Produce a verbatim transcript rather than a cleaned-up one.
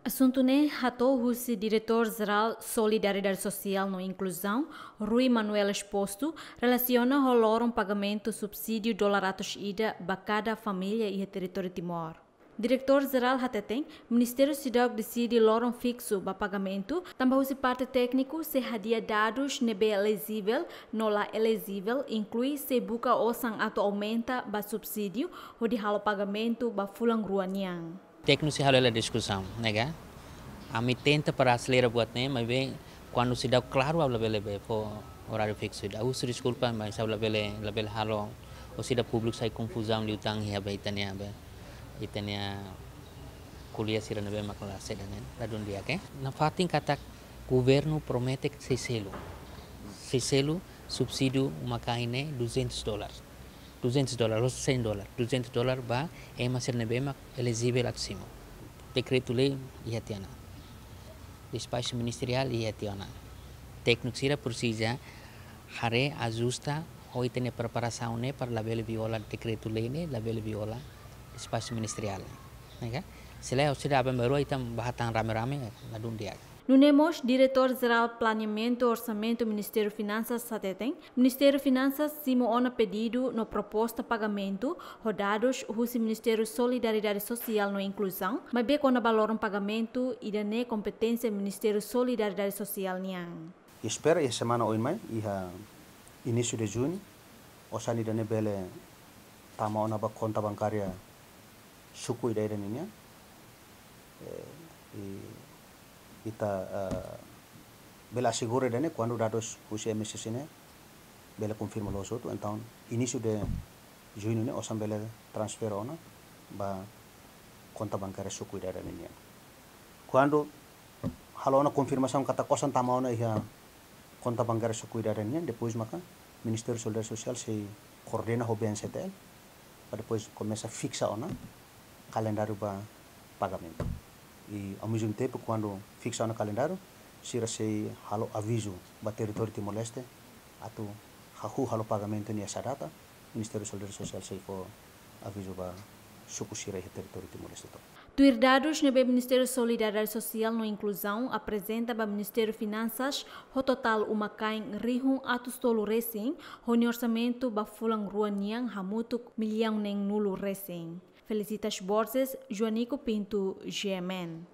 Asuntu ne'e hato'o husi Diretór Jerál Solidariedade Sosiál no Inkluzaun, Rui Manuel Exposto, relasiona ho loron pagamentu subsídiu dolar atus ida ba kada família iha territóriu Timor. Diretór Jerál hateten, Ministériu seidauk deside loron fiksu ba pagamentu, tanba husi parte tékniku sei hadi'a dadus ne'ebé elejivel no la elejivel, inklui sei buka osan atu aumenta ba subsídiu hodi halo pagamentu ba fulan rua nian. Tékniku sei halo hela diskusaun, ne'e ka? Ami tenta para aselera buat ne'e, maibé kuandu seidauk klaru ha'u labele bá fó oráriu fiksu. Ha'u husu deskulpa, mas ha'u labele, labele halo, ou seidauk públiku sai konfuzaun liután iha be ita-nia be, ita-nia ko'alia sira ne'ebé mak la seda ne'e, ladún di'ak, eh? Nafatin katak governu promete sei selu. Sei selu subsídiu uma-kain ne'e duzentos dólar. Duzentos dólar, ou cem dólar. Duzentos dólar ba ema sira ne'ebé mak elejivel atu simu. Dekretu-lei iha tiha ona. Despaxu ministeriál iha tiha ona. Tékniku sira presiza haree, ajusta, ho ita-nia preparasaun ne'e para labele viola dekretu-lei ne'e, labele viola despaxu ministeriál. Ne'e ka? Se lae, ou seidauk aban-bainrua ita bá hatán rame-rame, ladún di'ak. Nune'e mós, Diretór Jerál Planeamentu Orsamentu Ministériu Finansas hateten, Ministériu Finansas simu ona pedidu no proposta pagamentu ho dadus husi Ministériu Solidariedade Sosiál no Inkluzaun, maibé kona-ba loron pagamentu ida-ne'e kompeténsia Ministériu Solidariedade Sosiál nian. I espera iha semana oin mai, iha inísiu de juñu, osan ida-ne'e bele tama ona ba konta bankária suku ida-idak ninian. Eh, i ita, eh, bele asegura ida-ne'e kuandu dadus husi M S S ne'e bele konfirma loos hotu, entaun inísiu de juñu ne'e osan bele transfere ona ba konta bankária suku ida-idak ninian. Kuandu halo ona konfirmasaun katak osan tama ona iha konta bankária suku ida-idak ninian, depois maka Ministériu Solidariedade Sosiál sei koordena ho B N C T L, para depois komesa fiksa ona kalendáriu ba pagamentu. I ao mesmo tempo, kuandu fiksa ona kalendáriu, sira sei halo avizu ba territóriu Timor-Leste, atu hahú halo pagamentu nia sa data, Ministériu Solidariedade Sosiál sei fó avizu ba suku sira iha territóriu Timor-Leste tomak. Tuir dadus ne'ebé Ministériu Solidariedade Sosiál no Inkluzaun aprezenta ba Ministériu Finansas ho totál uma-kain rihun atus tolu resin, ho nia orsamentu ba fulan rua nian hamutuk millaun neen-nulu resin. Felicitas Borges, Joanico Pinto, G M N.